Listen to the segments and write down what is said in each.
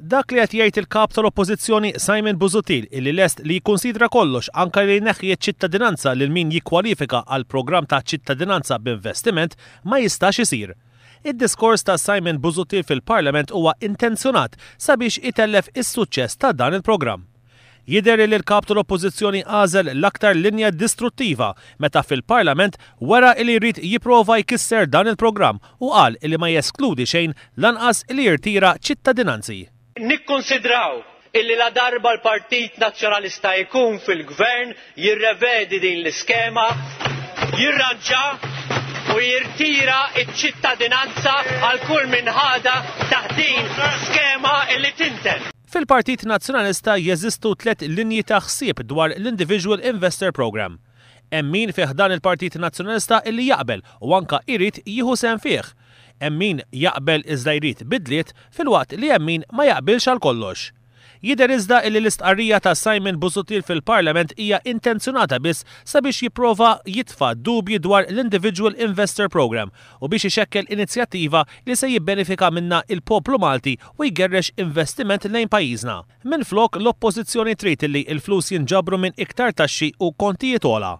Dak li qed jgħid il-Kap tal-Oppożizzjoni Simon Busuttil illi lest li jikkunsidra kollox anke li jneħħi ċ-ċittadinanza lil min jikkwalifika għall-programm ta' ċittadinanza b'investiment ma jistax isir. Id-diskors ta' Simon Busuttil fil-Parlament huwa intenzjonat sabiex itellef is-suċċess ta' dan il-programm. Jidher li l-Kap tal-Oppożizzjoni għażel l-aktar linja distruttiva meta fil-Parlament wera li jrid jipprova jkisser dan il-programm u qal li ma jeskludi xejn lanqas li jirtira ċittadinanzi. Nikkunsidraw illi ladarba l-Partit Nazzjonalista jkun fil-Gvern jirrevedi din l-iskema, jirranġa u jirtira ċ-ċittadinanza għal kull min ħadha taħt din skema illi tinten. Fil-Partit Nazzjonalista jeżistu tlett linji ta' ħsieb dwar l-Individual Investor Programme. Hemm min fi ħdan il-Partit Nazzjonalista illi jaqbel u anka jrid jieħu sehem fih. Hemm min jaqbel iżda jrid bidliet filwaqt li hemm min ma jaqbilx għal kollox. Jidher iżda illi l-istqarrija ta' Simon Busuttil fil-Parlament hija intenzjonata biss sabiex jipprova jitfa' dubji dwar l-Individual Investor Programme u biex ixekkel inizjattiva li se jibbenefika minnha il-poplu Malti u jgerrex investiment lejn pajjiżna. Minflok, l-Oppożizzjoni trid li l-flus jinġabru minn iktar taxxi u kontijiet ogħla.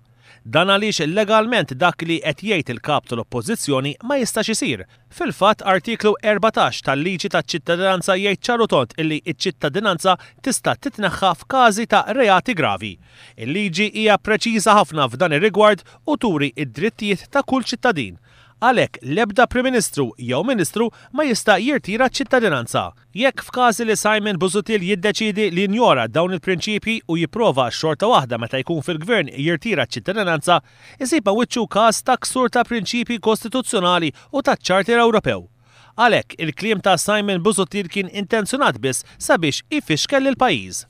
Dan għaliex legalment dak li qed jgħid il-Kap tal-Oppożizzjoni ma jistax isir. Fil-fatt, Artiklu 14 tal-Liġi taċ-Ċittadinanza jgħid ċar u tond illi ċ-ċittadinanza tista' titneħħa f'każi ta' reati gravi. Il-liġi hija preċiża ħafna f'dan ir-rigward u turi d-drittijiet ta' kull ċittadin. Għalhekk, l-ebda Prim Ministru jew Ministru ma jista' jirtira ċ-ċittadinanza. Jekk f'każ li Simon Busuttil jiddeċiedi li jinjora dawn il-prinċipji u jipprova xorta waħda meta jkun fil-Gvern jirtira ċ-ċittadinanza, isib ma' wiċċu każ ta' ksur ta' prinċipji kostituzzjonali u taċ-Charter Ewropew. Għalhekk, il-kliem ta' Simon Busuttil kien intenzjonat biss sabiex ifixkel lill-pajjiż.